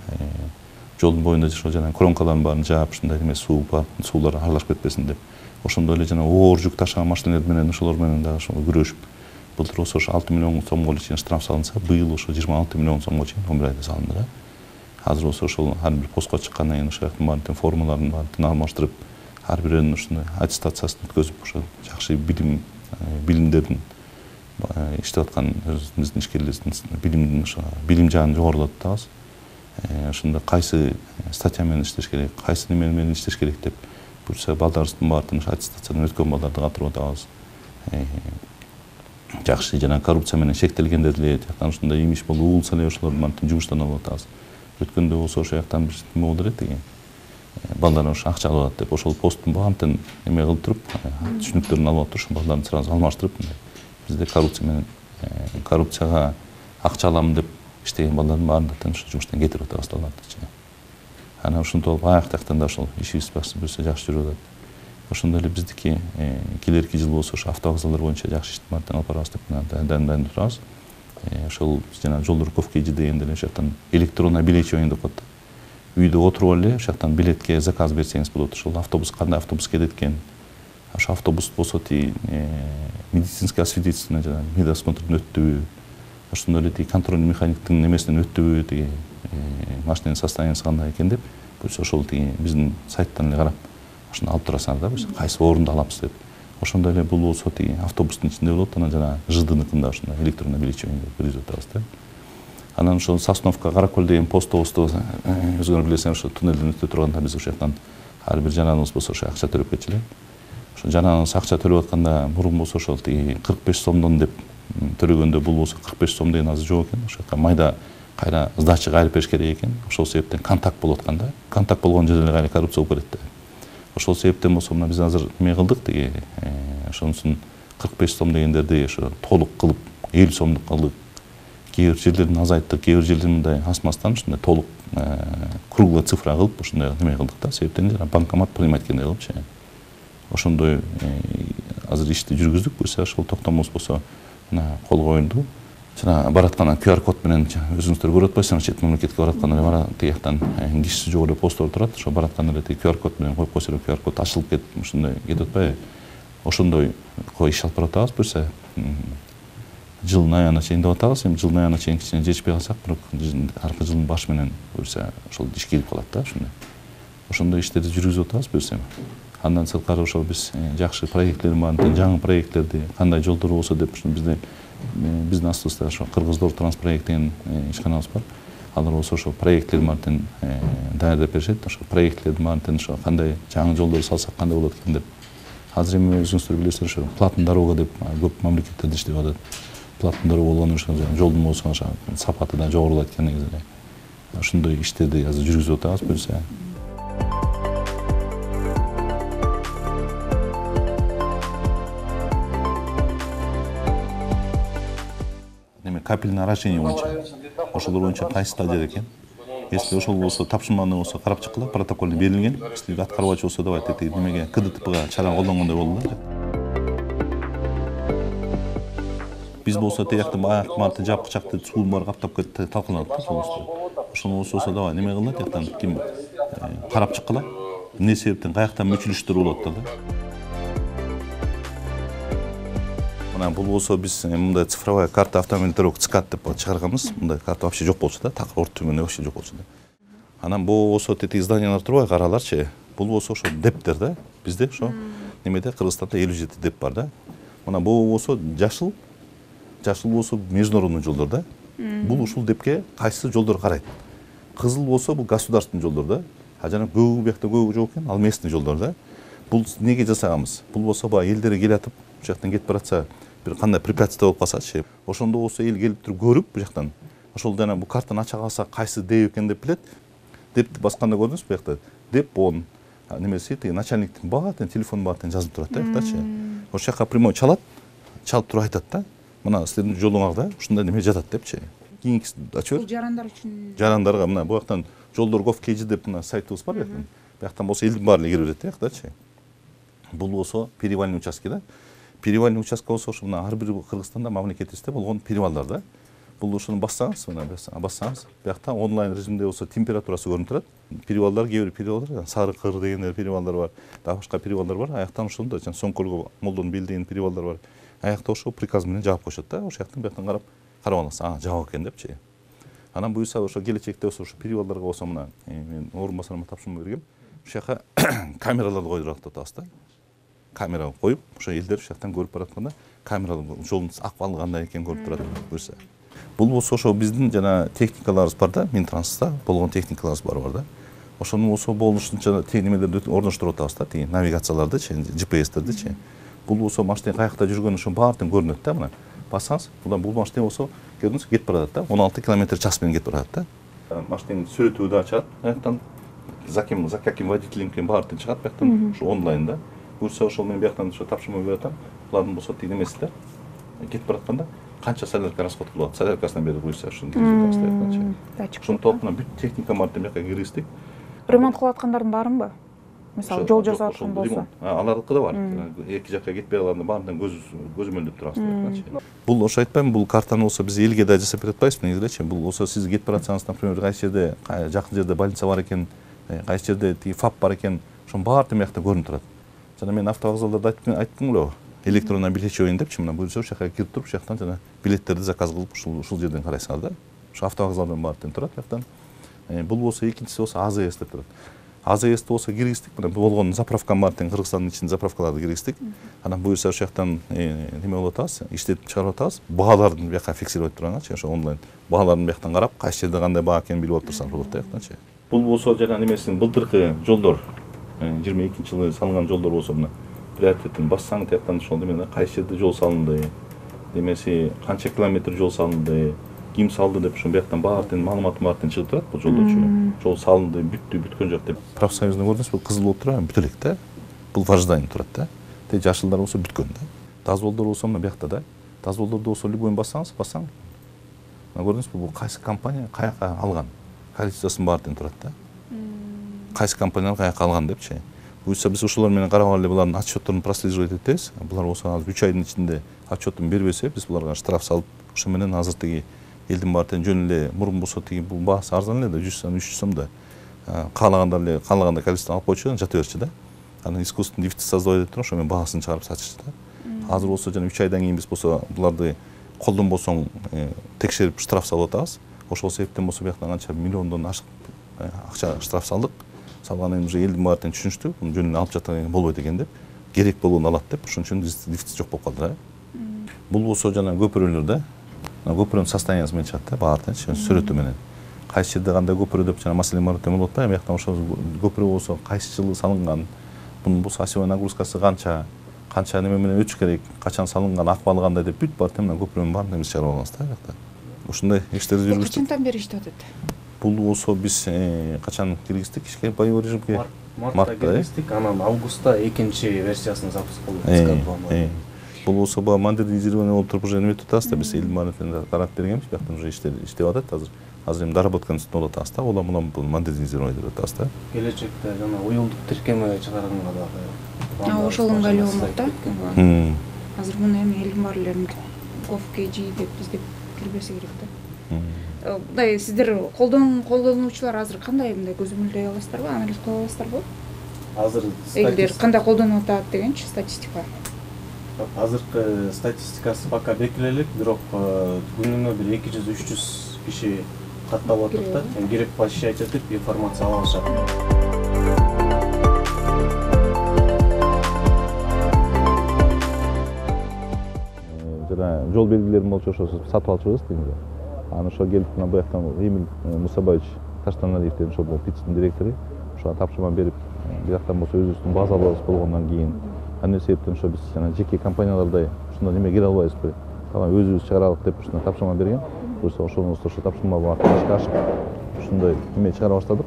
жолдун боюнда ошо жана кромкалардын баарын жаап, ушундай эме суулар аралашып кетпесин деп. Ошондой эле жана оор жүк ташыган машиналар менен ошолор менен дагы ошо күрөшүп, былтыр болсо ошо 6 миллион сомго чейин штраф салынса, быйыл ошо 26 миллион сомго чейин 11 айда салынды да. Азыр болсо ошол ар бир постко чыккандан кийин ошол жактын баарын формаларын баарын алмаштырып, ар бирөөнүн ушундай аттестациясын өткөзүп, ошо жакшы билимдерин иштеп аткан өзүбүздүн ишкерлерибиздин билим жагын жогорулатып атабыз. Ошондо кайсы статья менен иштеш керек, кайсы неме менен иштеш керек деп буюрса балдарыбыздын баарын аттестациядан өткөн балдарды катырып атабыз. Жакшы жана коррупция менен шектелгендер деле жактан ушундай имиш болуп улса эле ошолордун баарын жумуштан алып атабыз. Өткөндө болсо ошол жактан бир неме болду эле тиги балдар ошо акча алып атат деп, ошол посттун баарын эме кылып туруп, түшүнүктөрүн алып туруп, ошо балдарды сразу алмаштырып, бизде коррупция менен коррупцияга акча алам деп иштеген балдардын баарын ошо жумуштан кетирип атабыз алардычы. Анан ушинтип алып аяк жактан да ошол ишибиз буюрса жакшы жүрүп атат. Ошондой эле биздики келерки жыл болсо ошо автовокзалдар боюнча жакшы иштин баарын алып барабыз деп дайындап турабыз. Ошол жана жол руковкеji дегенде эле ошол жактан электронный билечивание деп коет. Үйдө отуруп эле ошол жактан билетке заказ берсеңиз болот. Ошол автобус кандай автобус келет экен, ошо автобус болсо медицинский освидетельствование жана медосмотрдон өттүбү, ошондой эле контрольный механиктин немесинен өттүбү, машинанын состояниясы кандай экен деп, буюрса ошол биздин сайттан эле карап, ошону алып турасыңар да, буюрса кайсы орунду аламыз деп. Ошондой эле бул болсо автобустун ичинде болот, анан жана ЖДныкында ошондой электронный билечивание киргизип атабыз да. Анан ошол Сосновка Каракөл деген постобузду өзүңөр билесиңер, ошо туннелден өтө турганда биз ошол жактан ар бир жанагыбыз болсо ошо акча төлөп кетчү эле. Ошо жанагыбыз акча төлөп атканда мурун болсо ошол 45 сомдон деп төлөгөндө бул болсо 45 сом деген азыр жок экен. Ошол жакка майда кайра сдача кайрып бериш керек экен. Ошол себептен контакт болуп атканда, контакт болгон жерде кайра коррупция болуп кетет да. Ошол себептен болсо мына биз азыр эме кылдык тиги ошонусун 45 сом дегендерди ошо толук кылып 50 сомдук кылдык. Кээ бир жерлерин азайттык, кээ бир жерлерин мындай асмастан ушундай толук круглый цифра кылып ушундай неме кылдык да. Себептен жана банкомат принимать эткендей кылыпчы. Ошондой азыр ишти жүргүздүк. Буюрса ошол токтомубуз болсо мына колго оюнду. Жана бараткандан QR код менен өзүңүздөр көрүп атпайсыңар, чет мамлекетке баратканда бара тиги жактан кишиси жок эле посттор турат. Ошо баратканда эле QR код менен коюп койсо QR код ачылып кетип ушундай кетип атпайбы? Ошондой иш алып баратабыз. Буюрса жылдын аягына чейин деп атабыз. Эми жылдын аягына чейин кичине жетишпей калсак, бирок аркы жылдын башы менен буюрса ошол иш келип калат да ушундай. Ошондой иштерди жүргүзүп атабыз буюрса. Андан сырткары ошо биз жакшы проектлер бар, жаңы проекттерди кандай жолдор болсо деп бизде биздин астыбызда ошо Кыргыздор Транспроект деген ишканабыз бар. Алар болсо ошо проекттер менен даярдап беришет. Ошо проектлер менен ошо кандай жаңы жолдор салсак кандай болот экен деп. Азыр эми өзүңүздөр билесиздер, ошо платный дорога деп көп мамлекеттерде иштеп атат. Платный дорога болгону ошо жолдун болсо ошо сапаты да жогорулайт экен негизи. Ошондой иштерди азыр жүргүзүп атабыз буюрса. Капельное орошение боюнча. Ошолор боюнча кайсы стадияда экен? Если ошол болсо тапшырманы болсо карап чыккыла, протоколду берилген. Если аткарбачы болсо давай тетиги немеге КДТПга чара колдонгондой болду да. Биз болсо тиякты аяк марты жапкычакты суу бар каптап кетти, талкаланат да болсо. Ошону болсо давай неме кылат, тияктан ким карап чыккыла. Эмне себептен каяктан мүчүлүштөр болот да. Бул болсо биз мындай цифровая карта автомобиль дорог ЦКАД деп чыгарганбыз. Мындай карта вообще жок болчу да, так орто түбүндө вообще жок болчу да. Анан бул болсо тетиги зданиялар турбайбы, араларчы. Бул болсо ошо дептер да. Бизде ошо немеде Кыргызстанда 57 деп бар да. Мына бул болсо жашыл болсо международный жолдор да. Бул ушул депке кайсы жолдор карайт. Кызыл болсо бул государственный жолдор да. А жана көөгү биякта көөгү жок экен, ал местный жолдор да. Бул неге жасаганбыз? Бул болсо баягы элдер келатып, ушул жактан кетип баратса, бир кандай препятствие болуп калсачы, ошондо болсо эл келип туруп көрүп бу жактан ошол жана бу картаны ача калса кайсы деп экен деп билет. Депти басканда көрдүңүзбү бу жакта? Деп он немеси тиги начальниктин баатын телефон баатын жазып турат да жактачы. Ошол жака прямой чалат туруп айтат да. Мына силердин жолуңарда ушундай неме жатат депчи. Кийинкиси ачып бер. Жарандар үчүн. Жарандарга мына бу жактан жолдор gov.kg деп мына сайтыбыз бар экен. Бу жактан болсо элдин баары эле кире берет да жактачы. Бул болсо перевальный участке да. Перевальный участка болсо ошо мына ар бир Кыргызстанда мамлекетибизде болгон перевалдар да. Бул ошону бассаңыз, мына бассаңыз, биякта онлайн режимде болсо температурасы көрүнүп турат. Перевалдар, кээ бир перевалдар, Сары Кыр деген перевалдар бар, дагы башка перевалдар бар. Аяктан ошондо жана Соңкөлгө молдон белдеген перевалдар бар. Аякта ошо приказ менен жаап коюшат да. Ошол жактан бияктан карап аласың, жабык экен депчи. Анан буюрса ошо келечекте болсо ошо перевалдарга болсо мына мен орун басарыма тапшырма бергем. Ошол жака камераларды койдуруп атабыз да. Камера коюп, ошо элдер ошол жактан көрүп баратканда, камера жолдун акыбалы кандай экенин көрүп турат буюрса. Бул болсо ошо биздин жана техникаларыбыз бар да, Минтрансда болгон техникаларыбыз бар да. Ошону болсо болушунча немелерди орноштуруп атабыз да, тиги навигациялардычы, GPS-тердичи. Бул болсо машина каякта жүргөнү ошо баардыгы көрүнөт да, мына. Бассаңыз, бул машина болсо көрдүңүз кетип барат да, 16 км/ч менен кетип барат да. Машинанын сүрөтү да чыгат, аяктан за каким водителем экен баардыгы чыгат, бияктан ошо онлайн да. Буюрса ошол мен бияктан ошо тапшырма берип атам. Булардын болсо тиги немесиде кетип баратканда канча солярка расход кылат, соляркасынан бери буюрса ошону киргизип атабыз. Ошону толкуна бүт техника бар деп бияка киргиздик. Ремонт кылып аткандардын барынбы? Мисалы жол жасап аткан болсо. Алардыкы да бар. Эки жакка кетпей калганда баарынан көзөмөлдөп турабыз. Бул ошо айтпаймынбы, бул картаны болсо биз элге да жасап бере атпайбызбы негизи элечи. Бул болсо сиз кетип баратсаңыз, например, кайсы жерде жакын жерде больница бар экен, кайсы жерде тиги ФАП бар экен, ошонун баардыгы биякта көрүнүп турат. Жана мен автовокзалдарда айттым беле, электронный билет чөйүн депчи, мына буюрса ошол жака кирип туруп, ошол жактан жана билеттерди заказ кылып ушул жерден карайсыңар да. Ошо автовокзалдан баардыгы турат жактан. Бул болсо экинчиси болсо АЗС деп турат. АЗС болсо киргиздик, мына болгон заправка бар тең Кыргызстандын ичинде заправкаларды киргиздик. Анан буюрса ошол жактан неме болуп атабыз, иштетип чыгарып атабыз. Бааларды бияка фиксировать турганчы, ошо онлайн бааларын бияктан карап, кайсы жерде кандай баа экенин билип отурсаң болот да жактанчы. Бул болсо жана немесин былтыркы жолдор 22-жылы салынган жолдор болсо мына приоритетин бассаң тияктан ошол неме кайсы жерде жол салынды, немеси канча километр жол салынды, ким салды деп ошо бияктан баардык маалыматы баардык чыгып турат бул жолдочу. Жол салынды, бүттү, бүткөн жок деп. Профсоюзда көрдүңүзбү, кызыл болуп турат, бүтө элек да. Бул важдание турат да. Те жашылдар болсо бүткөн да. Дозволдор болсо мына биякта да. Дозволдорду болсо любойн бассаңыз, мына көрдүңүзбү, бул кайсы компания каяка алган, количествосын баардыгын турат да. Кайсы компаниялар каяка алган депчи. Буюрса биз ошолор менен карап алып булардын отчетторун прослеживать этебиз. Булар болсо азыр 3 айдын ичинде отчетун бербесе, биз буларга штраф салып, ошо менен азыр тиги элдин баардыгын жөн эле мурун болсо тиги бул баасы арзан эле да, 100 сом, 300 сом да. Каалагандар эле каалагандай количество алып койчу, жата берчү да. Анан искусственный дефицит создавать этип туруп, ошо менен баасын чыгарып сатышты да. Азыр болсо жана 3 айдан кийин биз болсо буларды колдонбосоң текшерип штраф салып атабыз. Ошол себептен болсо бияктан канча миллиондон ашык акча штраф салдык. Салгандан уже элдин баардыгын түшүнүштү, муну жөн эле алып жаткан болбойт экен деп, керек болгону алат деп, ошон үчүн дефицит жок болуп калды да. Бул болсо жана көпүрөлөр да. Көпүрөнүн состояниясы менен чыгат да, баардыгы сүрөтү менен. Кайсы жерде кандай көпүрө деп жана маселе бар болуп атпайбы, бияктан ошол көпүрө болсо кайсы жылы салынган, бунун болсо осевой нагрузкасы канча неме менен өтүш керек, качан салынган, акыбалы кандай деп бүт баардыгы менен көпүрөнүн баарын эмес чыгарып алганбыз да биякта. Ушундай иштерди жүргүздүк. Качандан бери иштеп атат? Бул болсо биз качан киргиздик ишке, боевой режимге? Мартта киргиздик, анан августта экинчи версиясын запуск кылдык. Бул болсо баа модернизирование болуп туруп уже эме өтүп атабыз да, биз элдин баарын карап бергенбиз, бияктан уже иштеп атат азыр. Азыр эми доработканын үстүндө болуп атабыз да, улам бул модернизирование деп атабыз да. Келечекте жана уюлдук тиркеме чыгарганга дагы Ошол ыңгайлуу болмок да. Азыр муну эми элдин баары эле GovKG деп издеп кирбесе керек да. Мындай сиздер колдонуучулар азыр кандай мындай көзөмөлдөй аласыздарбы, анализ кыла аласыздарбы? Азыр элдер кандай колдонуп атат дегенчи статистика. Азыркы статистикасы пока бекиле элек, бирок күнүнө бир 200-300 киши катталып атат да. Кирип посещать этип информация ала алышат. Жана жол белгилерин болчу ошо сатып алчубыз дегенде. Аны ошо келип мына буяктан Эмиль Мусабаевич Таштаналиевден ошо ПИЦтин директору ошого тапшырма берип, бияктан болсо өзүбүздүн базаларыбыз болгондон кийин аны себептен ошо биз жана жеке компаниялардай ушундай неме кире албайбызбы, өзүбүз чыгаралык деп ушундай тапшырма берген. Буюрса ошондо ошо тапшырма барып ишке ашып ушундай неме чыгара баштадык,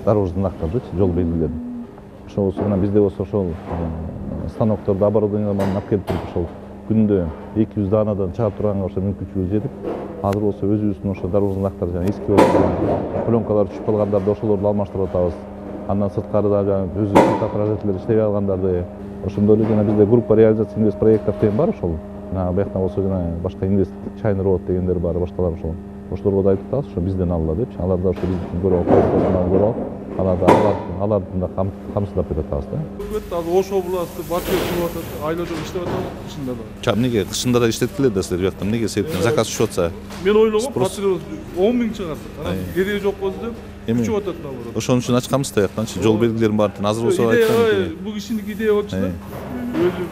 дорожный знактарды, жол белгилерин. Ошол болсо мына бизде болсо ошол станокторду, оборудованияларды алып келип туруп ошол күндө 200 даанадан чыгарып турганга ошо мүмкүнчүлүгү жетип, азыр болсо өзүбүздүн ошо дорожный знактар жана эски пленкалар түшүп калгандарды ошолорду алмаштырып атабыз. Андан сырткарыда жана өзүбүздүн отражателер иштебей калгандарды, ошондой эле жана бизде группа реализация инвест проекттер деген бар ошол. Мына бияктан болсо жана башка инвест China Road дегендер бар, башкалар ошол. Ошолорго да айтып атабыз, ошо бизден алла депчи. Алар да ошо биздин көрүп алып, алардын да камсыздап берип атабыз да. Азыр Ош областы Батыр кылып атат, айларда иштеп атат, кышында да. Эмнеге кышында да иштеткиле да силер бияктан эмнеге себептен заказ түшүп атса? Мен ойлогом, Батыр 10 миң чыгарды. Анан кереги жок болду деп күчүп атат наоборот. Ошон үчүн ачканбыз да жактанчы жол белгилерин баарын азыр болсо айткан. Бул кишинин идея болчу да. Өзү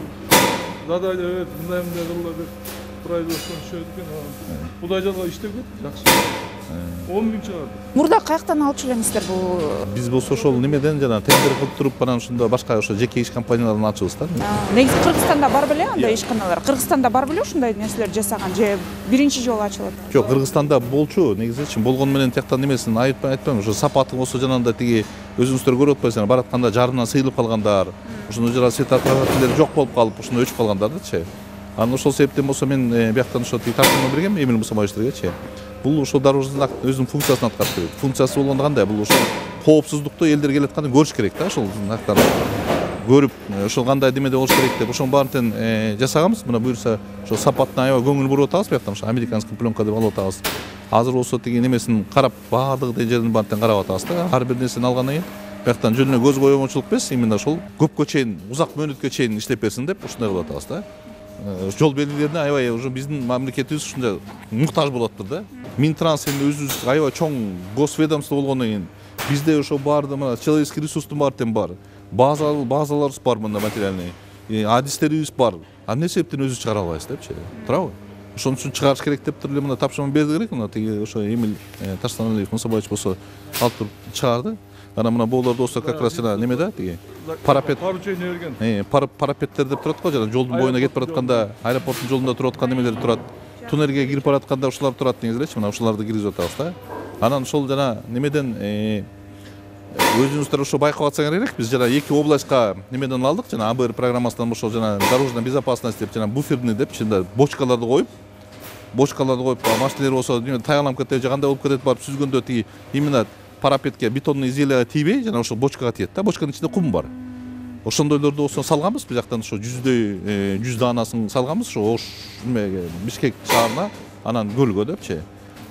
задание мындай кылла деп производство түшөт экен. Кудай жалга иштеп кетти, жакшы. 10 миң чыгарды. Мурда каяктан алчу элеңиздер бул? Биз болсо ошол немеден жана тендер кылып туруп анан ушунда башка ошо жеке иш компанияларын ачыбыз да. Негизи Кыргызстанда бар беле андай ишканалар? Кыргызстанда бар беле ушундай нерселер жасаган же биринчи жолу ачылат? Жок, Кыргызстанда болчу, негизи болгону менен тияктан немесин айтпайм, ошо сапаты болсо жанагындай тиги өзүңүздөр көрүп атпайсыздар, баратканда жарымынан сыйылып калгандар, ошондо жана светофорлор жок болуп калып, ошондо өчүп калгандардычы. Анан ошол себептен болсо мен бияктан ошо тапшырма бергем Эмиль Мусабаевичтерге. Бул ошол дорожный знак өзүнүн функциясын аткарып берет. Функциясы болгондо кандай? Бул ошол коопсуздукту элдер келатканда көрүш керек да, ошол знактарды көрүп, ошол кандай демеде болуш керек деп ошонун баарын жасаганбыз. Мына буюрса ошол сапатына аябай көңүл буруп атабыз, бияктан ошо американский пленка деп алып атабыз. Азыр болсо тиги немесин карап, баардык жердин баарын карап атабыз да. Ар бир нерсени алгандан кийин бияктан жөн эле көз коомчулук эмес, именно ошол көпкө чейин, узак мөөнөткө чейин иштеп берсин деп ушундай кылып атабыз да. Жол белгилерине аябай уже биздин мамлекетибиз ушундай муктаж болуп атыптыр да. Минтранс эми өзүбүз аябай чоң госведомство болгондон кийин Бизде ошо баарды мына человеческий ресурстун баары тең бар. Базаларыбыз бар, мында материальный. Адистерибиз бар. Эмне себептен өзү чыгара албайбыз депчи. Туурабы? Ошон үчүн чыгарыш керек деп туруп эле мына тапшырма берди керек. Мына тиги ошо Эмиль Таштаналиев Мусабаевич болсо алып туруп чыгарды. Ана мына боолордо болсо как раз жана неме да тиги парапет. Поручение берген. Парапеттер деп турат го, жана жолдун боюна кетип баратканда, аэропорттун жолунда туруп аткан немелер турат. Туннелге кирип баратканда ушулар турат деңиз элечи. Мына ушуларды киргизип атабыз да. Анан ошол жана немеден өзүңүздөр ошо байкап атсаңар керек. Биз жана 2 областка немеден алдык, жана АБР программасынан ошол жана дорожная безопасность деп жана буферный деп чында бочкаларды коюп, машиналер болсо таяланып кетет, же кандай болуп кетет, барып сүзгөндө тиги именно парапетке бетонный изделияга тийбей, жана ошо бочкага тиет да. Бочканын ичинде кум бар. Ошондойлорду болсо салганбыз, биз жактан ошо 100 даанасын салганбыз, ошо Ош немеге Бишкек шаарына, анан көлгө депчи.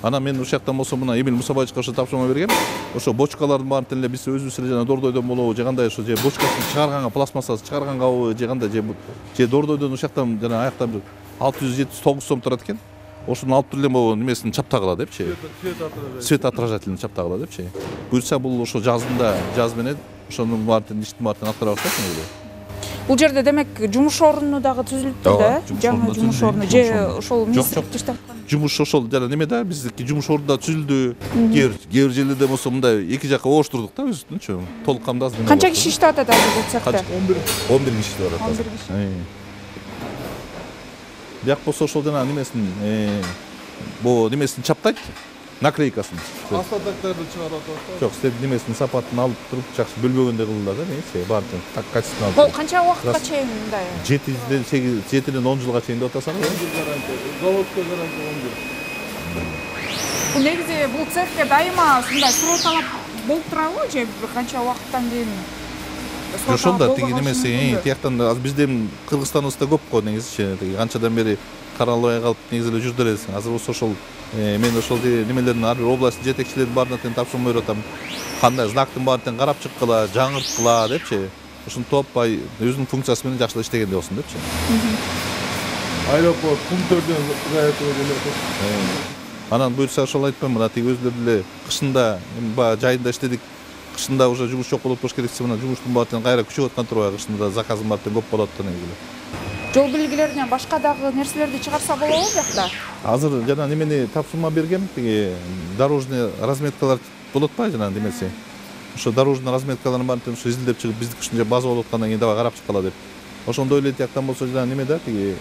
Анан мен ошол жактан болсо мына Эмиль Мусабаевичке ошо тапшырма бергем. Ошо бочкалардын баарын эле биз өзүбүз эле жана дордойдон болобу, же кандай ошо же бочкасын чыгарганга, пластмассасын чыгаргангабы, же кандай же дордойдон ошол жактан жана аяктан 600-700-900 сом турат экен. Ошону алып туруп эле могу немесин чаптагыла депчи. Свет отражателин чаптагыла депчи. Буюрса бул ошо жаз менен ошонун баарын иштин баарын алып бара баштайт эле. Бул жерде демек жумуш орну дагы түзүлүптү да? Жаңы жумуш орну же ошол министрлик иштеп аткан? Жумуш ошол жана неме да, биздики жумуш орнунда түзүлдү. Кээ бир жерлерде болсо мындай эки жакка ооштурдук да өзүнчү. Толук камдаз. Канча киши иштеп атат азыр бул цехте? 11 киши иштеп атат. 11 киши. Бияк болсо ошол жана немесин бу немесин чаптайт. Наклейкасын. Астатактарды чыгарып атат. Жок, сиз немесин сапатын алып туруп жакшы бөлбөгөндөй кылдылар да, эмнеси? Баардыгын так качественно. Бул канча убакытка чейин мындай? 7-ден 10 жылга чейин деп атасаңыз. 10 жыл гарантия. Заводко гарантия 10 жыл. Бул негизи бул цехке дайыма ушундай суроо талап болуп турабы же бир канча убакыттан кийин? Ошондо тиги немеси, тияктан азыр биздин Кыргызстаныбызда көп го негизичи. Тиги канчадан бери каралбай калып негизи эле жүрдү элесиң. Азыр болсо ошол мен ошол немелердин ар бир область жетекчилеринин баарына тең тапшырма берип атам. Кандай знактын баарын тең карап чыккыла, жаңырткыла депчи. Ушинтип өзүнүн функциясы менен жакшылап иштегенде болсун депчи. Аэропорт пункттерден заятуу делет. Анан буюрса ошол айтпайм, мына тиги өзүлөр деле кышында баягы жайында иштедик. Кышында уже жумуш жок болуп керек, мына жумуштун баарын кайра күчүп аткан турбайбы, кышында заказым баары тең көп болот да негизи. Жол белгилеринен башка дагы нерселерди чыгарса болобу бuyakta? Азыр жана немени тапшырма бергем, тиги дорожный разметкалар болот ба жана немеси. Ошо дорожный разметкалардын баарын тең ошо изилдеп чыгып биздики ушунча база болуп аткандан кийин дагы карап чыккыла деп. Ошондой эле тияктан болсо жана неме да тиги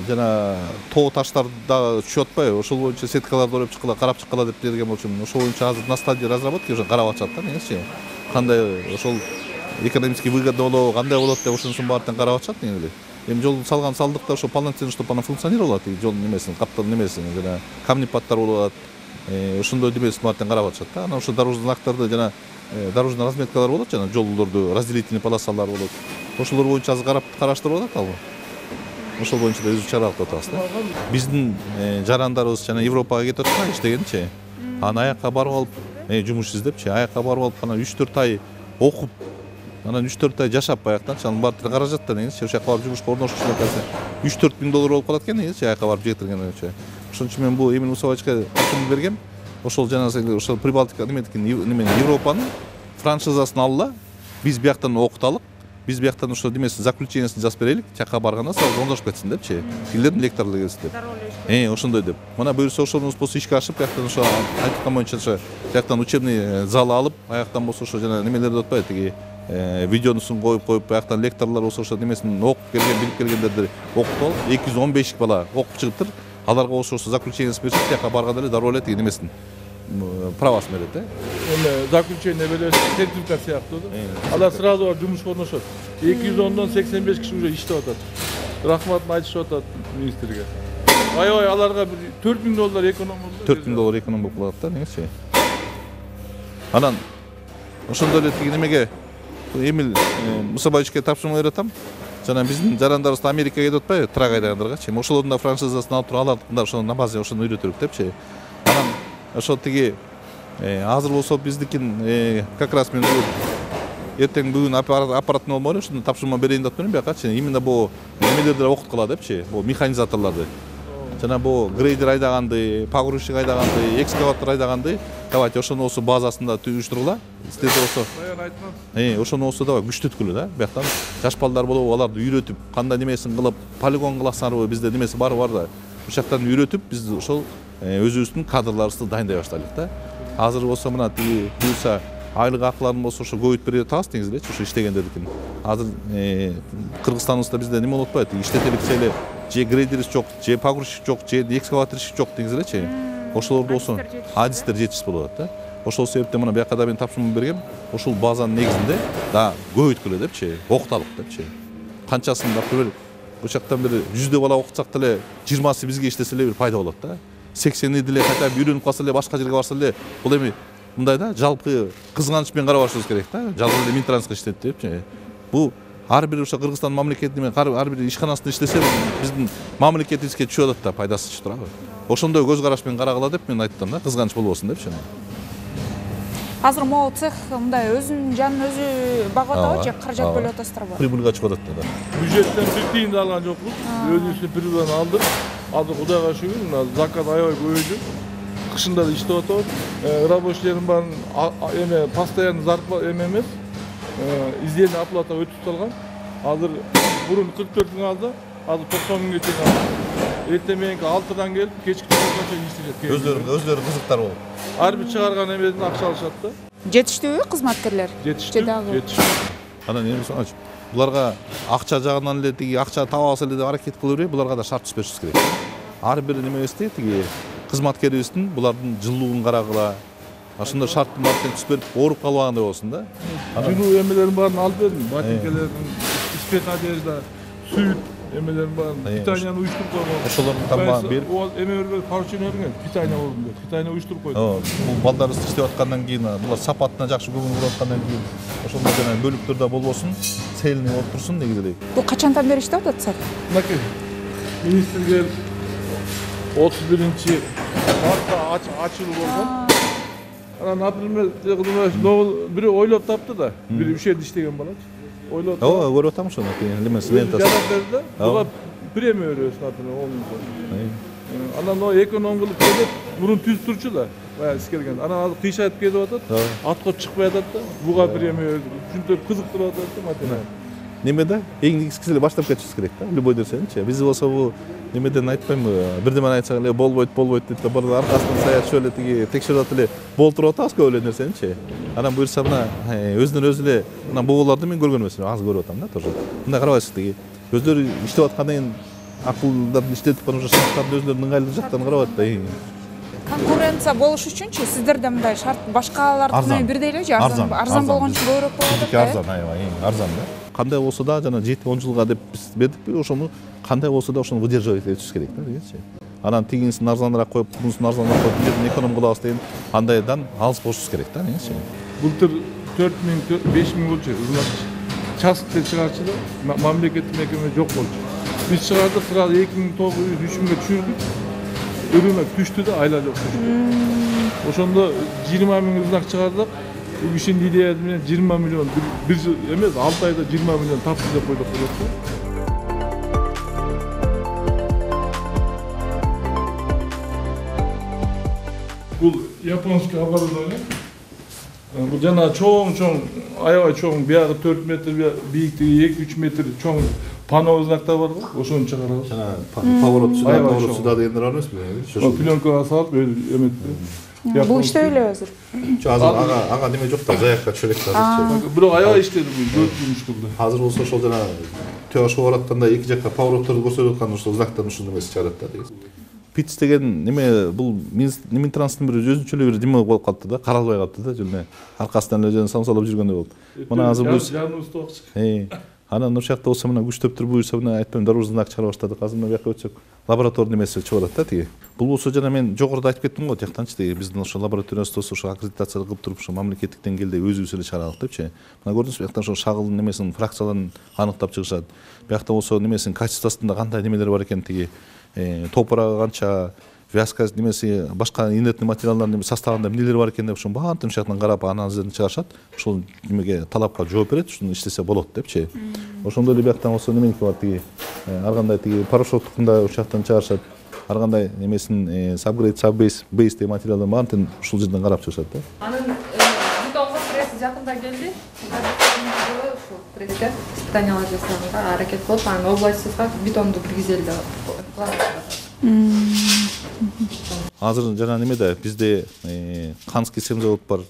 жана тоо таштар да түшүп атпайбы, ошол боюнча сеткаларды ойлоп чыккыла, карап чыккыла деп берген болчумун. Ошол боюнча азыр на стадии разработки уже карап атышат да негизичи. Кандай ошол экономически выгодно болобу, кандай болот деп ошонусун баарын карап атышат негизи. Эми жол салдык да ошо полноценно, чтобы она функционировала, тиги жол немесин, каптан немесин, жана камнепадтар болуп атат. Ошондой немесин баарын карап атышат да. Анан ошо дорожный знактарды жана дорожный разметкалар болот, жана жолдорду разделительный полосалар болот. Ошолор боюнча азыр караштырып атат албы. Ошол боюнча да өзү чара алып атабыз да. Биздин жарандарыбыз жана Европага кетип аткан иштегенчи. Анан аякка барып алып, жумуш издепчи, аякка барып алып, анан 3-4 ай окуп, анан 3-4 ай жашап баяктан, анын баары каражат да негизи, ошол жака барып жумушка орношуш эле 3-4 миң доллар болуп калат экен негизи, аякка барып жетиргенче. Ошон үчүн мен бул Эмиль Мусабаевичке тапшырма бергем. Ошол жана ошол Прибалтика немени Европанын франшизасын алла, биз бияктан окуталык. Биз бияктан ошо демесин заключениесин жазып берелик, жака барганда сразу оңдошуп кетсин депчи. Тилердин лекторлугу келсин деп. Ошондой деп. Мына буюрса ошонун болсо ишке ашып, бияктан ошо айткан боюнча ошо бияктан учебный зал алып, аяктан болсо ошо жана немелерди отпайбы, тиги видеонусун коюп, бияктан лекторлор болсо ошо немесин окуп келген, билип келгендерди окутуп алып, 215 бала окуп чыгыптыр. Аларга болсо ошо заключениесин берип, жака барганда эле дароо эле тиги немесин правасын берет да. Эми заключение берет, сертификат сыяктуу да. Алар сразу барып жумушка орношот. 210дон 85 киши уже иштеп атат. Рахматын айтышып атат министрге. Аябай аларга бир 4 миң доллар эконом болду. 4 миң доллар эконом болуп калат да негизичи. Анан ошондой эле тиги немеге Эмиль Мусабаевичке тапшырма берип атам. Жана биздин жарандарыбыз Америкага кетип атпайбы, трак айдагандаргачы. Ошолордун да франшизасын алып туруп алардыкында ошо на базе ошону үйрөтөлүк депчи. Анан ошо тиги азыр болсо биздикин как раз мен эртең бүгүн аппаратны болмой эле ушуну тапшырма берейин деп турмун биякачы. Именно бу немелерди окуткыла депчи, бу механизаторлорду. жана бул грейдер айдаганды, погрузчик айдаганды, экскаватор айдаганды давайте ошону осы базасында уюштургула. Сиздерде болсо ошону болсо давай күчтөткүлө да. Бияктан жаш балдар болобу, аларды үйрөтүп, кандай немесин кылып, полигон кыласыңарбы, бизде немеси бар да. Бул жактан үйрөтүп, биз ошол өзүбүздүн кадрларыбызды дайындай баштадык да. Азыр болсо мына тиги буюрса айлык акыларын болсо ошо көбөйтүп берип атабыз негизи элечи, ошо иштегендердикин. Азыр Кыргызстаныбызда бизде неме болуп атпайбы, иштетеликче эле же грейдерибиз жок, же погрузчик жок, же экскаваторчик жок деңиз элечи. Ошолорду болсо адистер жетишсиз болуп атат да. Ошол себептен мына бияка да мен тапшырма бергем. Ошол базанын негизинде да көбөйткүлө депчи, окуталык депчи. Канчасын например, ошоктон бир 100 бала окутсак деле 20сы бизге иштесе эле бир пайда болот да. 80 деле кайта үйрөнүп калса эле, башка жерге барса эле, бул эми мындай да, жалпы кызганыч менен карабашыбыз керек да. Жалгыз эле Минтрансқа иштейт депчи. Бул ар бир ошо Кыргызстан мамлекетинин ар бир ишканасында иштесе, биздин мамлекетибизге түшүп атат да, пайдасы чыгып турабы. Ошондой көз караш менен карагыла деп мен айттым да, кызганыч болбосун депчи. Азыр могу цех мындай өзүнүн жанын өзү багып атабы же каражат бөлүп атасыздарбы? Прибылга чыгып атат да. Бюджеттен бир тиын да алган жокпуз. Өзүбүздүн прибылдан алдык. Азыр Кудайга шүгүр, мына заказ аябай көбөйдү. Кышында да иштеп атабыз. Рабочийлердин баарын эме постоянно зарплата эме эмес. Изденүү оплата өтүп салган. Азыр бурун 44 мың алды, азыр 90 мыңга чейин алды. Эртең мененки 6-дан келип, кечки 9-га чейин иштешет. Өздөрү кызыктар болуп. Ар бир чыгарган эмесин акча алышат да. Жетиштүүбү кызматкерлер? Жетиштүү. Анан эми соңочу буларга акча жагынан эле тиги акча таба алса эле деп аракет кыла бербей, буларга да шарт түзүшүбүз керек. Ар бир немебизди тиги кызматкерибиздин булардын жылуулугун карагыла. Ошондой шарттын баарын түзүп берип, ооруп калбагандай болсун да. Жылуу эмелерин баарын алып бердим. Ботинкалердин, спец одежда, сүт эмелерин баарын питанияны уюштуруп койгон. Ошолордун тамагын берип, эме берген, поручение берген, питания болдум деп. Питания уюштуруп койдум. Бул балдарыбыз иштеп аткандан кийин, булар сапатына жакшы көңүл буруп аткандан кийин, ошондой жана бөлүктөрдө болбосун, цельный болуп турсун негизи эле. Бул качандан бери иштеп атат цех? Мынакей министрге 31 мартта ачылуу болгон. Анан например, бирөө ойлоп тапты да, бир ушерде иштеген балачы. Ойлоп тапты. Ооба, көрүп атам ошону, лемеси лентасы. Жанагыларда буга премия беребиз, например, 10 миң. Анан о эконом кылып келип, мурун түз турчу да, баягы искелген. Анан азыр кыйшайтып кетип атат, атка чыкпай атат да, буга премия берди. Ушинтип кызыктырып атат да материал. Немеде эң негизгиси эле баштап кетишибиз керек да, любой нерсеничи. Биз болсо бул немеден айтпаймынбы, бирдемени айтсак эле болбойт дейт да, бир аркасынан саятчы эле тиги текшерип атып эле болтуруп атабыз көп эле нерсеничи. Анан буюрса мына өзүнөн өзү эле мына бугуларды мен көргөн эмесмин, аз көрүп атам да тоже. Мындай карабайсыз тиги өздөрү иштеп аткандан кийин акылдарын иштетип кана ошо шарттарды өздөрүнүн ыңгайлуу жактарын карабайт да. Конкуренция болуш үчүнчү сиздерде мындай шарт башкалардыкы менен бирдей эле же арзан болгон үчүн көбүрөөк болуп атат? Арзан, аябай арзан да. Кандай болсо да жана 7-10 жылга деп биз бердикпи, ошону кандай болсо да ошону выдерживать этишибиз керек да дегенчи. Анан тигинисин арзаныраак коюп, бунусун арзаныраак коюп, бул жерден эконом кылабыз деген андайдан алыс болушубуз керек да дегенчи. Былтыр 4 миң, 5 миң болчу, участокте чыгарчы да, мамлекеттик мекеме жок болчу. Биз чыгардык, сразу 2900, 3000ге түшүрдүк. Рынок түштү да, айла жок түштү. Ошондо 20 миң знак чыгардык. Bu işin ideası 20 milyon, bir yıl emez, 6 ayda 20 milyon tapsız da koyduk. Bu Japonski оборудование. Bu jana çoğun, aябай çoğun, bir 4 metre, büyüklüğü 2-3 metre çoğun pano znakta var mı? Oşunu çıkaralım. Поворот сюда дегендер бар эмеспи? O plyonkaga салып, эметти. Бул иштеп эле азыр. Азыр ага неме жок да, заякка чөлөк азырчы. Бирок аябай иштеди бул, 4 жумуш кылды. Азыр болсо ошол жана төө ашып баратканда эки жакка поворотторду көрсөтүп аткан ошол знактан ушундай эмес чыгарат да деген. Питс деген неме бул Минтранстын бир өзүнчө эле бир неме болуп калды да, каралбай калды да, жана аркасынан эле самсалап жүргөндөй болду. Мына азыр бул анан ошол жакта болсо мына күчтөп туруп буюрса мына айтпайм дорожный знак чыгара баштадык. Азыр мына бияка өтсөк лабораторный эмеси чыгып атат да тиги. Бул болсо жана мен жогоруда айтып кеттим го, тияктанчы тиги биздин ошо лабораториябызда ошо аккредитация кылып туруп ошо мамлекеттик деңгээлде өзүбүз эле чыгарадык депчи. Мына көрдүңүзбү, бияктан ошо шагылдын немесин, фракцияларын аныктап чыгышат. Биякта болсо немесин качествосунда кандай немелер бар экен тиги, топурагы канча, вязка немеси, башка инертный материалдардын составында эмнелер бар экен деп ошонун баарын ошол жактан карап анализдерин чыгарышат. Ошол немеге талапка жооп берет, ушуну иштесе болот депчи. Ошондой эле бияктан болсо неменики бар тиги, ар кандай тиги порошоктукун да ошол жактан чыгарышат. ар кандай немесин subgrade, subbase, base деген материалдар баарын ушул жерден карап чыгышат да. Анын бетонго пресс жакында келди. Ушул пресске испытаниялар жасаганга аракет кылып, анан областьга бетонду киргизели деп. Азыр жана немеде бизде Канский цемент бар.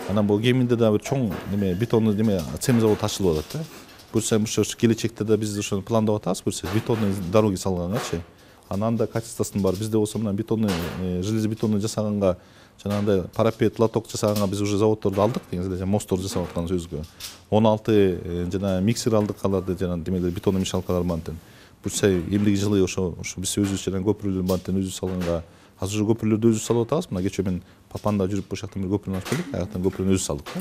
Анан бул Кеминде да бир чоң неме бетонный неме цемент заводу ачылып атат да. Буюрса келечекте да биз ошону пландап атабыз, буюрса бетонный дороги салгангачы. Анан да качествосын бар. Бизде болсо мына бетонный железобетонный жасаганга, жанагындай парапет, лоток жасаганга биз уже заводдорду алдык деген эле, мостторду жасап аткан сөзгө. 16 жана миксер алдык аларды жана демелер бетонный мешалкалар бантын. Буюрса эмдиги жылы ошо биз өзүбүз жана көпүрлөр бантын өзүбүз салганга азыр уже көпүрлөрдү өзүбүз салып атабыз. Мына кечээ мен Папанда жүрүп ошол жактан бир көпүрөнү ачып келдик. Аяктан көпүрөнү өзүбүз салдык да.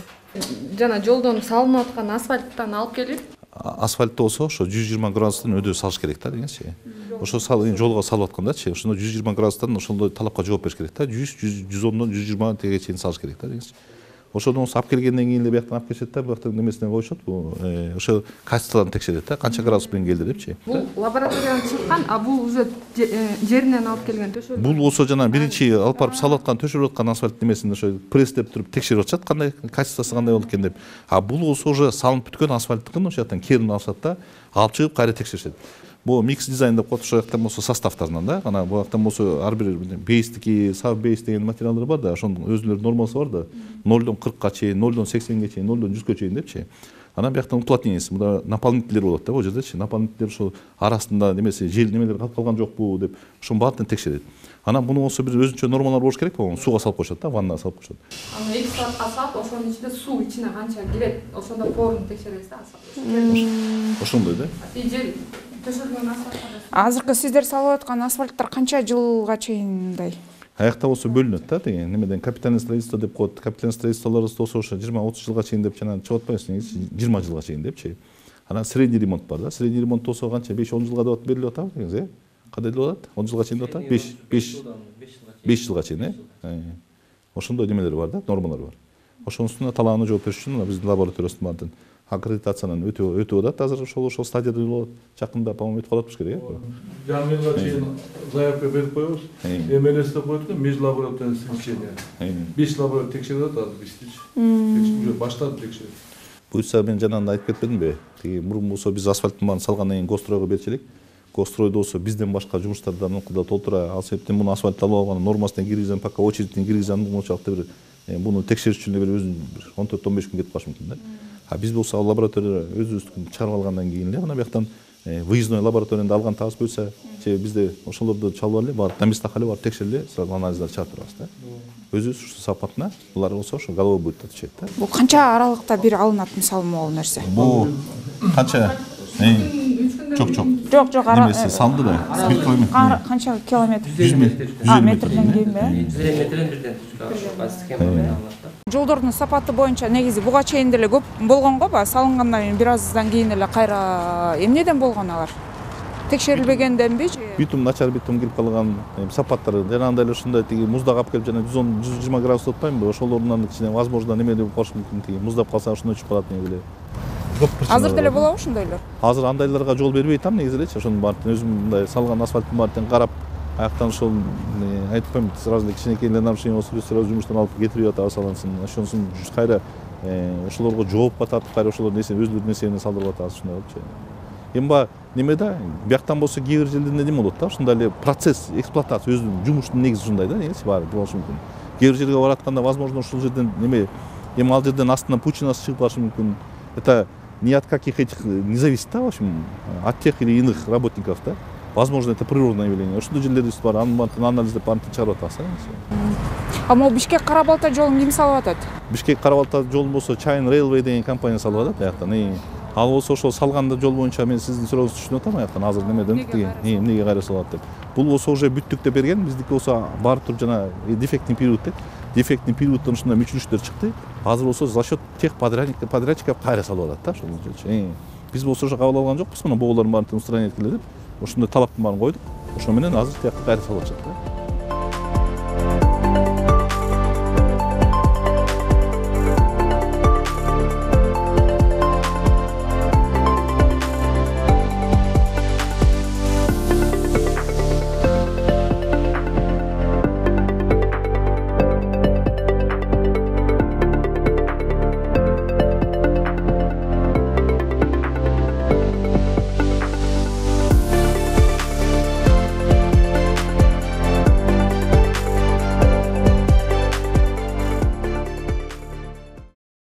Жана жолдон салынып аткан асфальттан алып келип, асфальтты болсо ошо 120 градустан өдө салыш керек да дегенчи. Ошо жолго салып аткандачы, ошондо 120 градустан ошондой талапка жооп бериш керек да. 100, 110дон 120 тегеге чейин салыш керек да дегенчи. Ошондон алып келгенден кийин эле бияктан алып келишет да, бияктан немесине коюшат. Ошо качестволорун текшерет да, канча градус менен келди депчи. Бул лабораториядан чыккан, а бул уже жеринен алып келген төшөлүк. Бул болсо жана биринчи алып барып салып аткан, төшөрүп аткан асфальт немесин ошо пресстеп туруп текшерип атышат, кандай качествосы кандай болду экен деп. А бул болсо уже салынып бүткөн асфальттыкын ошол жактан керин алышат да, алып чыгып кайра текшеришет. Бул микс дизайн деп коет, ошол жактан болсо составтарынан да, анан бул жактан болсо ар бир бейстики, саб бейс деген материалдар бар да, ошонун өзүнүн нормасы бар да, 0дон 40ка чейин, 0дон 80ге чейин, 0дон 100га чейин депчи. Анан бияктан уплотнениеси, мында наполнителер болот да, бул жердечи. Наполнителер ошол арасында немеси, жел немелер калып калган жокпу деп, ошонун баарын текшерет. Анан муну болсо бир өзүнчө нормалар болуш керек, болон сууга салып коюшат да, ваннага салып коюшат. Анан 2 саатка салып, ошонун ичинде суу ичине канча кирет, ошондо порун текшеребиз да. Ошондой да. Жел төшөлгөн асфальт. Азыркы сиздер салып аткан асфальттар канча жылга чейин мындай? Аякта болсо бөлүнөт да деген немеден капитальный строительство деп коет. Капитальный строительстволорубуз болсо ошо 20-30 жылга чейин деп жана чыгып атпайбы, 20 жылга чейин депчи. Анан средний ремонт бар да. Средний ремонт болсо канча 5-10 жылга деп берилип атабы дегенсиз, кандай деп атат? 10 жылга чейин деп атат? 5 жылга чейин, ошондой немелер бар да, нормалар бар. Ошонун үстүнө талааны жооп бериш үчүн биздин лабораториябыздын баардыгын аккредитациянан өтүп атат. Азыр ошол стадияда болот. Жакында, по-моему, өтүп калат керек, Жаңы жылга чейин заявка берип коебуз. МЛС деп коет экен, межлабораторный совещание. 5 лаборатория текшерип атат азыр иштечи. Уже баштады текшерип. Буюрса мен жанагында айтып кетпедимби? Мурун болсо биз асфальттын баарын салгандан кийин гостройго берчү элек. Гостройдо болсо бизден башка жумуштарды аныкында толтура, ал себептен муну асфальт алып алган, нормасына киргизген, пока очередьтин киргизген болчокто бир буну текшериш үчүн бир өзүнүн 14-15 күн кетип калышы мүмкүн да. А биз болсо лаборатория өзүбүздүн чыгарып алгандан кийин эле мына бияктан выездной лабораторияны алган табыз болсо, же бизде ошолорду чалып алып, барып на местах алып барып текшериле, сразу анализдер чыгарып турабыз да. Өзүбүз ушу сапатына, булар болсо ошо головой будет отвечать да. Бул канча аралыкта бир алынат мисалы могул нерсе? Бул канча? Жок. Жок, немеси салды да. 1 километр. Канча километр? 100 метр. Метрден кийинби? 100 метрден бирден схема менен алынат да. Жолдордун сапаты боюнча негизи буга чейин деле көп болгон го, салынгандан кийин бир аздан кийин эле кайра эмнеден болгон алар? Текшерилбегенденби же? Битум начар битум кирип калган, сапаттары жанагындай эле ушундай тиги муздак алып келип жана 110-120 градус атпаймынбы? Ошолорунан кичине возможно неме деп болуш мүмкүн, тиги муздап калса ошондой учуп калат негизи. Азыр деле болобу ошондойлор? Азыр андайларга жол бербей атам негизи элечи. Ошонун баарын өзүм мындай салган асфальттын баарын карап, аяктан ошол айтып коем, сразу эле кичинекей нарушение болсо сразу жумуштан алып кетирип атабыз салынсын. Ошонусун кайра ошолорго жооп катартып, кайра ошолор өзүлөрүнүн нерсени салдырып атабыз ушундай болчу. Эми неме да, бияктан болсо кээ бир жерде неме болот да, ушундай эле процесс эксплуатация өзүнүн жумуштун негизи ушундай да, негизи баары болушу мүмкүн. Кээ бир жерге баратканда возможно ушул жерден неме, эми ал жерден астынан пучинасы чыгып калышы мүмкүн. Это не от каких этих не зависит, да, в общем, от тех или иных работников, да. Возможно, это природное явление. Ошондой жерлерде бар, анализдеп баарын чыгарып атабыз. А могу Бишкек Кара-Балта жолун ким салып атат? Бишкек Кара-Балта жолун болсо China Railway деген компания салып атат аяктан. Ал болсо ошол салганда жол боюнча мен сиздин сурооңузду түшүнүп атам аяктан азыр немеден эмнеге кайра салат деп. Бул болсо уже бүттүк деп берген, биздики болсо бар тур жана дефектный период деп. Дефектный периодтон ушундай мүчүлүштөр чыкты. Азыр болсо за счет тех подрядчиков кайра салып атат да ошол. Биз болсо ошо кабыл алган жокпуз, мына боолордун баарын устранить эткиле деп. Ошондой талаптын баарын койдук. Ошо менен азыр тиякка кайра салып атышат да.